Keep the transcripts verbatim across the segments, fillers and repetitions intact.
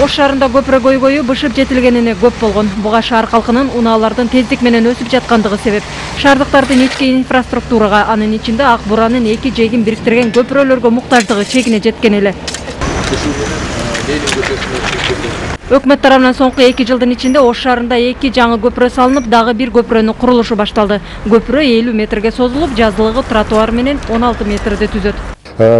Ош шаарында көпүрө көйгөйү бышып жетилгенине көп болгон. Буга шаар калкынын унаалардын тездик менен өсүп жаткандыгы себеп. Шаардыктардын ички инфраструктурага, анын ичинде ак буранын эки жээгин бириктирген көпүрөлөргө муктаждыгы чегине жеткен эле. Өкмөт тарабынан соңку эки жылдын ичинде Ош шаарында эки жаңы көпүрө салынып, дагы бир көпүрөнүн курулушу башталды. Көпүрө элүү метрге созулуп, жазылыгы тротуар менен он алты метрди түзөт.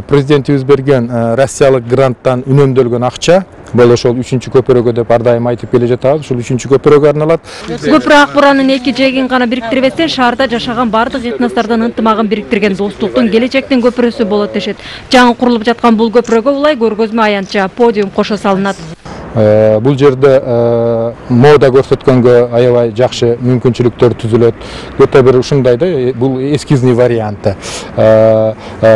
Президентибиз берген Россиялык гранттан үнөмдөлгөн акча бул ошол үчүнчү көпүрөгө деп ар дайым айтып келе жатабыз. Ушул үчүнчү көпүрөгө арналат. Көпүрө ак буранын эки жээгин гана бириктирбестен, шаарда жашаган бардык этностордун ынтымагын бириктирген достуктун, келечектин көпүрөсү болот дешет. Жаңы курулуп жаткан бул көпүрөгө улай көргөзмө аянтча подиум кошо салынат. Бул жерде мода көрсөткөнгө аябай жакшы мүмкүнчүлүктөр түзүлөт. Өтө бир ушундай да, бул эскизный варианты.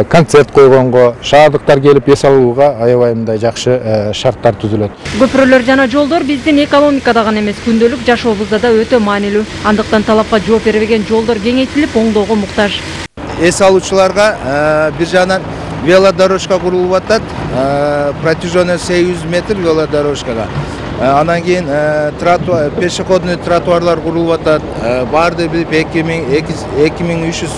Концерт койгонго, шаардыктар келип эс алууга аябай мындай жакшы шарттар түзүлөт. Көпүрөлөр жана жолдор биздин экономикада гана эмес, күндөлүк жашообузда да өтө маанилүү. Андыктан талапка жооп бербеген жолдор кеңейтилип, оңдоого муктаж. Эс алуучуларга бир жагынан велодорожка курулуп атат, протяженный сегиз жүз метр велодорожкага. Анан кийин пешеходный тротуарлар курулуп атат. Барды билип эки миң үч жүз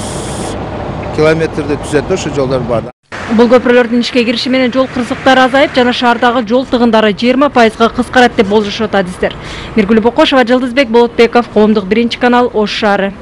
километрди түзөт ошо жолдор бар. Бул көпүрөлөрдүн ишке кириши менен жол кырсыктары азайып, жана шаардагы жол тыгындары жыйырма пайызга кыскарат деп болжошот адистер. Миргүл Бокошова, Жылдызбек Болотбеков, Коомдук биринчи канал, Ош шаары.